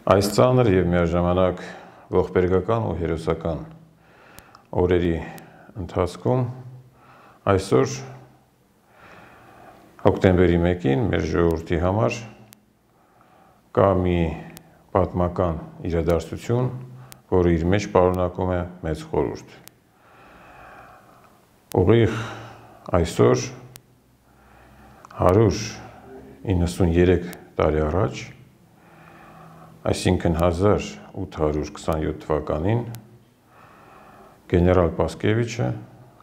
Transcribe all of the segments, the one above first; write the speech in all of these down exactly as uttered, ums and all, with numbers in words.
Այս ծանր և միաժամանակ ողբերգական ու հերոսական օրերի ընթացքում այսօր հոկտեմբերի մեկին մեր ժողովրդի համար կա մի պատմական իրադարձություն, որը իր մեջ պարունակում է մեծ խորհուրդ։ Ուղիղ այսօր հարյուր իննսուներեք տարի առաջ, այսինքն հազար ութ հարյուր քսանյոթ թվականին, գեներալ Պասկևիչը,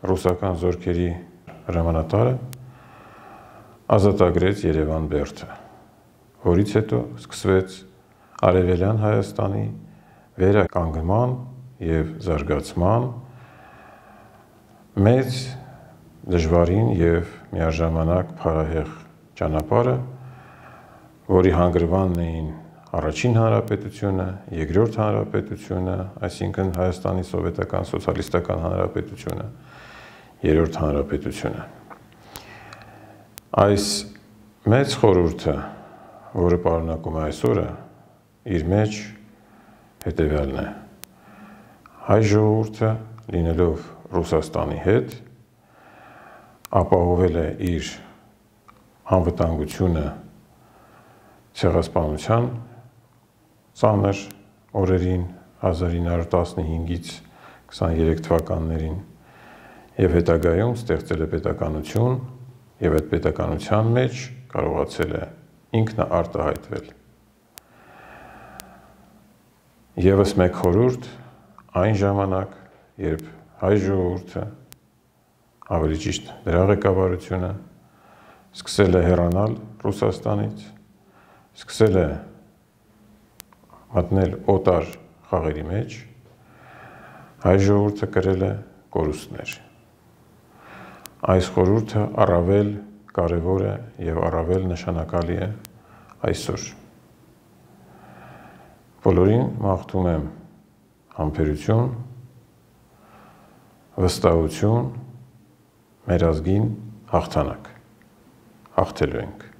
ռուսական զորքերի հրամանատարը, ազատագրեց Երևան բերդը, որից հետո սկսվեց Արևելյան Հայաստանի վերականգնման և զարգացման մեծ, դժվարին և միաժամանակ փառահեղ ճանապարհը, որի հանգրվանն էին Առաջին հանրապետությունը, Երկրորդ հանրապետությունը, այսինքն Հայաստանի Սովետական Սոցիալիստական Հանրապետությունը, Երրորդ հանրապետությունը։ Այս մեծ խորհուրդը, որը պարունակում է այս օրը, իր մեջ հետևյալն է. հայ ժողովուրդը, լինելով Ռուսաստանի հետ, ապահովել է իր անվտանգությունը ցեղասպանության ծանր օրերին հազար ինը հարյուր տասնհինգից քսաներեք թվականներին և հետագայում ստեղծել է պետականություն և այդ պետականության մեջ կարողացել է ինքն արտահայտվել։ Եվս մեկ խորհուրդ այն ժամանակ, երբ հայ ժողովուրդը, ավելի ճիշտ դրա ղեկավարությունը, սկսել է հեռանալ Ռուսաստանից, սկսել է մտնել օտար խաղերի մեջ, հայ ժողովուրդը կրել է կորուստներ։ Այս խորհուրդը առավել կարևոր է և առավել նշանակալի է այսօր։ Բոլորին մաղթում եմ համբերություն, վստահություն, մեր ազգին հաղթանակ, հաղթելու ենք։